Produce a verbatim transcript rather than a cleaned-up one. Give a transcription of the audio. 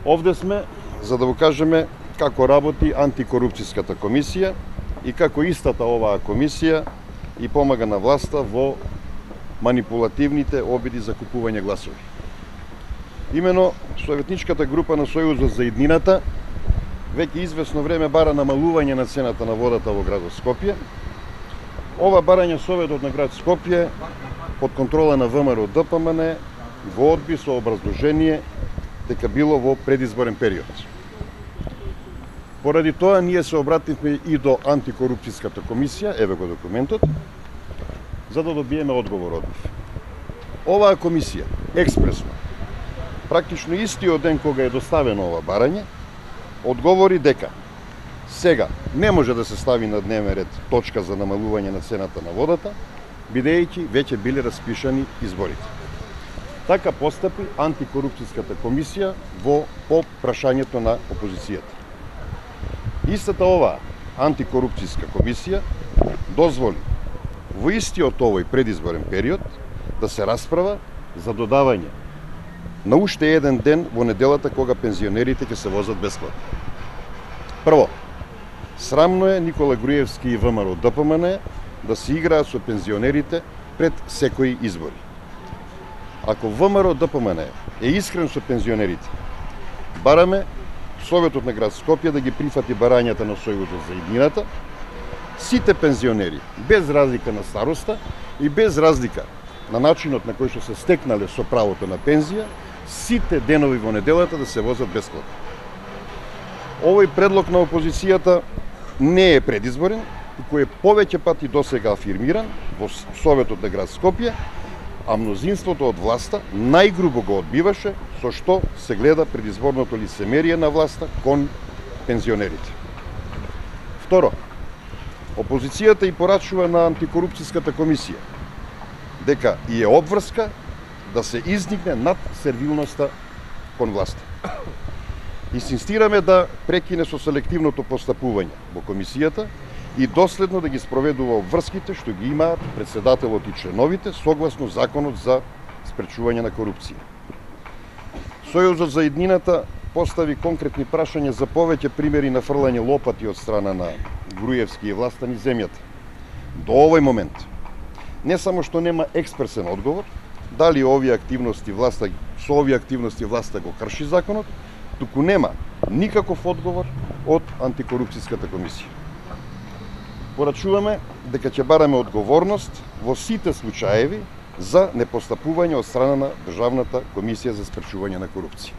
Овде сме за да го кажеме како работи антикорупцијската комисија и како истата оваа комисија и помага на власта во манипулативните обиди за купување гласови. Имено, советничката група на Сојузот за иднината веќе известно време бара намалување на цената на водата во градот Скопје. Ова барање Советот на град Скопје под контрола на ВМРО Д П М Н го одби со образложение дека било во предизборен период. Поради тоа ние се обративме и до антикорупцијската комисија, еве го документот, за да добиеме одговор од нив. Оваа комисија експресно, практично истиот ден кога е доставено ова барање, одговори дека сега не може да се стави на дневен ред точка за намалување на цената на водата, бидејќи веќе биле распишани изборите. Така постапи антикорупцијската комисија во по прашањето на опозицијата. Истата оваа антикорупцијска комисија дозволи во истиот овој предизборен период да се расправа за додавање на уште еден ден во неделата кога пензионерите ќе се возат бесплатно. Прво, срамно е Никола Груевски и ВМРО Д П М Н да се играат со пензионерите пред секои избори. Ако ВМРО Д П М Н е искрен со пензионерите, бараме Советот на град Скопје да ги прифати барањата на Сојузот за иднината, сите пензионери, без разлика на староста и без разлика на начинот на кој што се стекнале со правото на пензија, сите денови во неделата да се возат бесплатно. Овој предлог на опозицијата не е предизборен, кој е повеќе пати досега афирмиран во Советот на град Скопје, а мнозинството од власта најгрубо го одбиваше, со што се гледа предизборното лицемерие на власта кон пензионерите. Второ, опозицијата и порачува на антикорупцијската комисија дека и е обврска да се изникне над сервилноста кон власта. Инсистираме да прекине со селективното постапување во комисијата и доследно да ги спроведува обврските што ги имаат председателот и членовите согласно законот за спречување на корупција. Сојузот за иднината постави конкретни прашања за повеќе примери на фрлање лопати од страна на Груевски и власта низ земјата. До овој момент не само што нема експресен одговор дали овие активности власта со овие активности власта го крши законот, туку нема никаков одговор од антикорупцијската комисија. Порачуваме дека ќе бараме одговорност во сите случаеви за непостапување од страна на Државната комисија за спречување на корупција.